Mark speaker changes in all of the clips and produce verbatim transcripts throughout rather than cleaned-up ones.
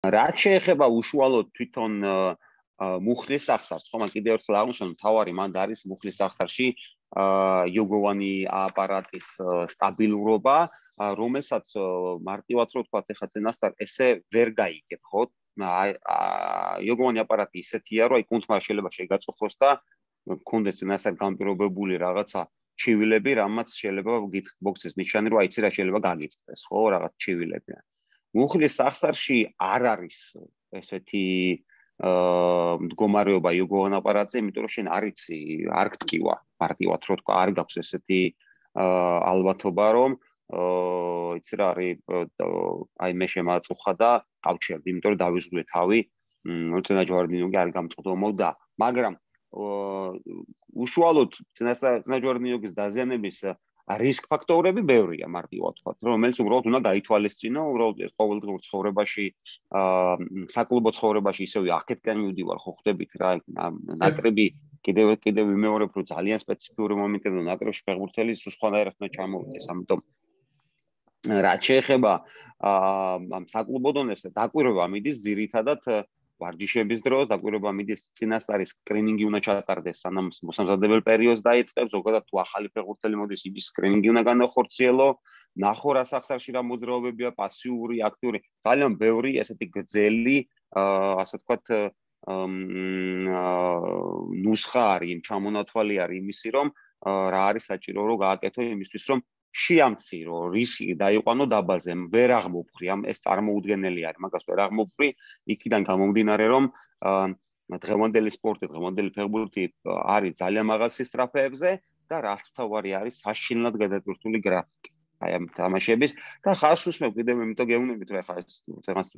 Speaker 1: რაც შეეხება უშუალოდ თვითონ მუხლის სახსარს, ხომ კიდევ ერთხელ აღვნიშნე, თავარი მანდ არის მუხლის სახსარში იოგოვანი აპარატის სტაბილურობა, რომელსაც მარტივად რო ვთქვათ, ეხლა წინასწარ ესე ვერ გაიგებ, ხო? იოგოვანი აპარატი ისეთია, რომ აი კუნთმა შეიძლება შეგაწუხოს და გქონდეს წინასწარ განპირობებული რაღაცა ჩივილები, რამაც შეიძლება გითბოქსის ნიშანი, რომ აიცი რა შეიძლება გაგიწდეს, ხო, რაღაც ჩივილები. მუხლის სახსარში არ არის ესეთი მდგომარეობა იოგოვან აპარატზე, იმიტომ რომ შენ არ იცი, არ გტკივა, მარტივად რო თქვა, არ გაქვს ესეთი ალბათობა, რომ იცი რა არის, აი მე შემაწუხა და გავჩერდი, იმიტომ რომ დავიზღუდე თავი, წინაჯვარედინიოგი არ გამწყდომოდა, მაგრამ უშუალოდ წინაჯვარედინიოგის დაზიანების რისკ ფაქტორები ბევრია, მარტივად ვთქვათ, რომელიც უბრალოდ უნდა გაითვალისწინო, უბრალოდ ყოველდღიურ ცხოვრებაში, საკლუბო ცხოვრებაში ისევ აქეთკენ მივდივარ, ხო ხვდებით რა, ნაკრები კიდევ კიდევ ვიმეორებ, რომ ძალიან სპეციფიური მომენტებია ნაკრებში ფეხბურთელი სულ სხვანაირად უნდა ჩამოვიდეს, ამიტომ რაც შეეხება ამ საკლუბო დონეზე, დაკვირვება მიდის ძირითადად ვარჯიშების დროს, დაკვირვება მიდის წინასწარი სკრინინგი უნდა ჩატარდეს, სანამ მოსამზადებელ პერიოდს დაიწყებს, ზოგადად თუ ახალი ფეხბურთელი მოდის, იმის სკრინინგი უნდა განახორციელო, ნახო რა სახსარში რა მოძრაობებია, პასიური, აქტიური, ძალიან ბევრი ესეთი გრძელი, ასე ვთქვათ, ნუსხა არის, ჩამონათვალი არის იმისი, რომ რა არის საჭირო, რომ გააკეთო იმისთვის, რომ შეამცი, რომ რისკი დაიყვანო დაბალზე, ვერ აღმოფხრი, ამ ეს წარმოუდგენელი არის, მაგას ვერ აღმოფხრი, იქიდან გამომდინარე, რომ დღევანდელი სპორტი, დღევანდელი ფეხბურთი არის ძალიან მაღალ სისწრაფეებზე და რაც თავარი არის საშინლად გადატვირთული გრაფიკი. აი ამ თამაშების და ხაზს უსმევ კიდევ იმიტომ გეუბნებით, რომ ახლა ეს წეგანს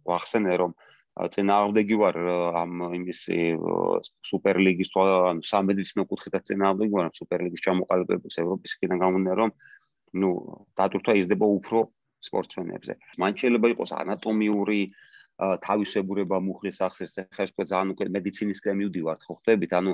Speaker 1: ვახსენე, რომ წინააღმდეგი ვარ ამ იმის სუპერლიგის ან სამედიცინო კუთხითაც წინააღმდეგი ვარ სუპერლიგის ჩამოყალიბების ევროპის იქიდან გამომდინარე, რომ ნუ დატვირთვა იზრდება უფრო სპორტსმენებზე. მან შეიძლება იყოს ანატომიური თავისებურება მუხლის სახსრს, ახლა ეს ძალიან უკვე მედიცინისკენ მივდივართ, ხო ხვდებით, ანუ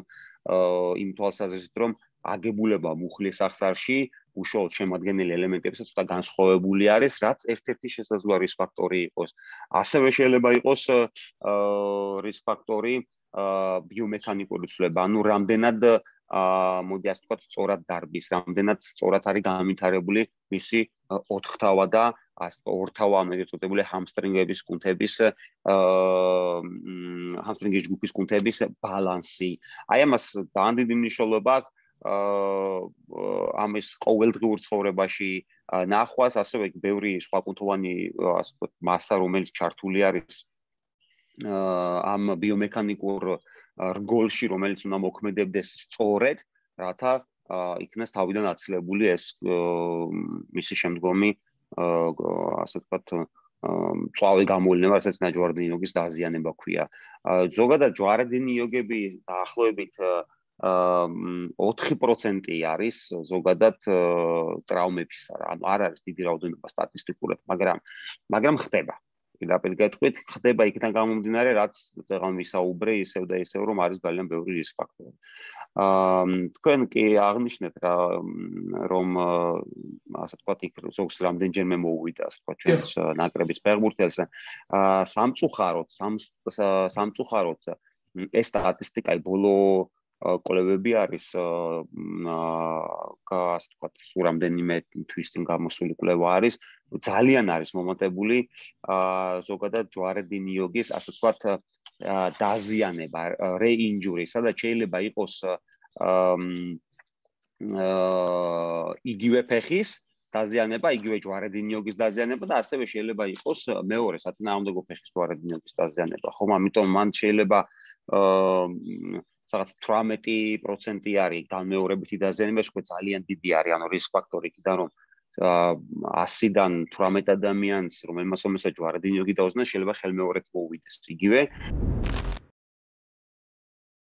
Speaker 1: იმ თვალსაზრისით, რომ აგებულება მუხლის სახსარში უშუალოდ შემადგენელი ელემენტებისაც ცოტა განსხვავებული არის, რაც ერთ-ერთი შესაძლოა რისკ ფაქტორი იყოს. ასევე შეიძლება იყოს რისკ ფაქტორი ბიომექანიკური ცვლილება, ანუ რამდენად მოდი ასე ვთქვათ, სწორად დარბის, რამდენად სწორად არის განვითარებული მისი ოთხთავა და ორთავა, ამერე წოდებული ჰამსტრინგების კუნთების ჰამსტრინგის ჯგუფის კუნთების ბალანსი. აი ამას ძალიან დიდი მნიშვნელობა აქვს ამის ყოველდღიურ ცხოვრებაში ნახვას, ასევე ბევრი სხვა კუნთოვანი ასე ვთქვათ მასა, რომელიც ჩართული არის ამ ბიომექანიკურ რგოლში, რომელიც უნდა მოქმედებდეს სწორედ, რათა იქნას თავიდან აცილებული ეს მისი შემდგომი ასე ვთქვათ მწვავე გამოვლენა, რასაც ნაჯვარედინიოგის დაზიანება ქვია. ზოგადად ჯვარედინიოგები დაახლოებით ოთხი პროცენტი არის ზოგადად ტრავმებისა, ანუ არ არის დიდი რაოდენობა სტატისტიკურად, მაგრამ მაგრამ ხდება. პირდაპირ გეტყვით, ხდება იქიდან გამომდინარე, რაც წეგან ვისაუბრე, ისევ და ისევ, რომ არის ძალიან ბევრი რისკ ფაქტორი. თქვენ კი აღნიშნეთ რა, რომ ასე ვთქვათ, იქ ზოგს რამდენჯერმე მოუვიდა, ასე ვთქვათ, ჩვენს ნაკრების ფეხბურთელს. სამწუხაროდ, სამწუხაროდ ეს სტატისტიკა ბოლო კვლევები არის ასე ვთქვათ, სულ რამდენიმე თვის წინ გამოსული კვლევა არის, ძალიან არის მომატებული ზოგადად ჯვარედინიოგის, ასე ვთქვათ, დაზიანება, რეინჯური, სადაც შეიძლება იყოს იგივე ფეხის დაზიანება, იგივე ჯვარედინიოგის დაზიანება და ასევე შეიძლება იყოს მეორე საწინააღმდეგო ფეხის ჯვარედინიოგის დაზიანება. ხომ, ამიტომ მან შეიძლება რაღაც თვრამეტი პროცენტი არის განმეორებითი დაზიანება, ეს უკვე ძალიან დიდი არის, ანუ რისკ ფაქტორი იქიდან, რომ ასიდან თვრამეტ ადამიანს, რომელმაც უმეტესად ჯვარედინიოგი დაუზნეს, შეიძლება ხელმეორედ მოუვიდეს იგივე